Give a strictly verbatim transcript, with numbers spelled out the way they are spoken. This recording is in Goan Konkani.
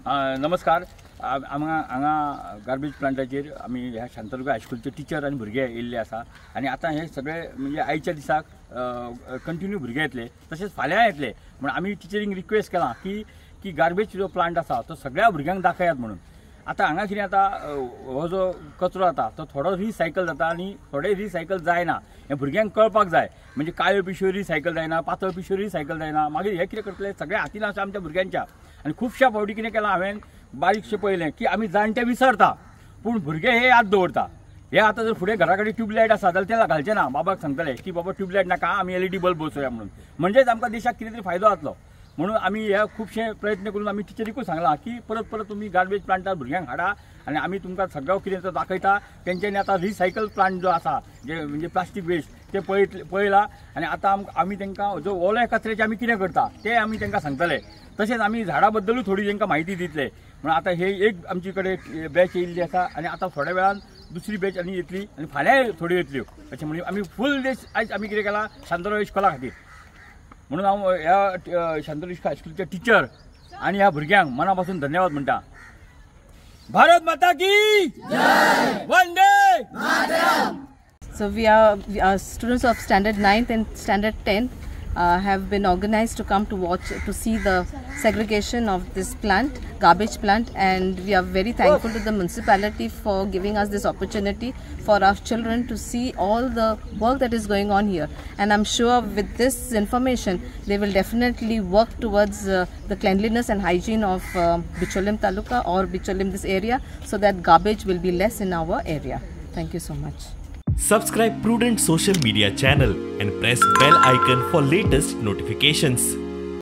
नमस्कार. हांगा हांगा गार्बेज प्लांटाचेर आमी ह्या शांतादुर्गा हायस्कुलचे टिचर आनी भुरगे येयल्ले आसा आनी आतां हे सगळे म्हणजे आयच्या दिसाक कंटिन्यू भुरगे येतले, तशेंच फाल्यां येतले. म्हण आमी टिचरींक रिक्वेस्ट केलां की की गार्बेज जो प्लांट आसा तो सगळ्या भुरग्यांक दाखयात म्हणून. आतां हांगा कितें जाता, हो जो कचरो जाता तो थोडो रिसायकल जाता आनी थोडे रिसायकल जायना, हें भुरग्यांक कळपाक जाय. म्हणजे काळ्यो पिशव्यो रिसायकल जायना, पातळ पिशव्यो रिसायकल जायना. मागीर हें कितें करतले सगळे हातीन आसा आमच्या भुरग्यांच्या. आनी खुबश्या फावटी कितें केलां हांवें, बारीकशें पळयलें की आमी जाणटे विसरता पूण भुरगे हे याद दवरता. हे आतां जर फुडें घरा कडेन ट्यूबलायट आसा जाल्यार ते घालचे ना, बाबाक सांगतले की बाबा ट्यूबलायट नाका, आमी एल ई डी बल्ब बसोवया म्हणून. म्हणजेच आमकां देशाक कितें तरी फायदो जातलो म्हणून आमी हे खुबशे प्रयत्न करून आमी टिचरीकूय सांगलां की परत परत तुमी गार्बेज प्लांटार भुरग्यांक हाडा आनी आमी तुमकां सगळो कितें तो दाखयता. तेंच्यांनी आतां रिसायकल प्लांट जो आसा, जे म्हणजे प्लास्टीक वेस्ट, ते पळयत पळयला आनी आतां आमी तांकां जो ओल्या कचऱ्याचे आमी कितें करता ते आमी तांकां सांगतले. तशेंच आमी झाडां बद्दलूय थोडी तांकां म्हायती दितले. म्हणून आतां हे एक आमचे कडेन बॅच येयल्ली आसा आनी आतां थोड्या वेळान दुसरी बॅच आनी येतली आनी फाल्यांय थोड्यो येतल्यो. अशें म्हणजे आमी फूल देश आयज आमी कितें केलां शांतादुर्गा इस्कोला खातीर. म्हणून हांव ह्या शांतादुर्गा हायस्कुलचे टिचर आनी ह्या भुरग्यांक मना पासून धन्यवाद म्हणटा. भारत माता की जय, Vande Mataram. So we are, we are students of standard ninth and standard tenth uh, have been organized to come to watch, to see the segregation of this plant, garbage plant, and we are very thankful to the municipality for giving us this opportunity for our children to see all the work that is going on here. And I'm sure with this information they will definitely work towards uh, the cleanliness and hygiene of uh, Bicholim Taluka or Bicholim this area, so that garbage will be less in our area. Thank you so much. Subscribe Prudent Social Media channel and press bell icon for latest notifications.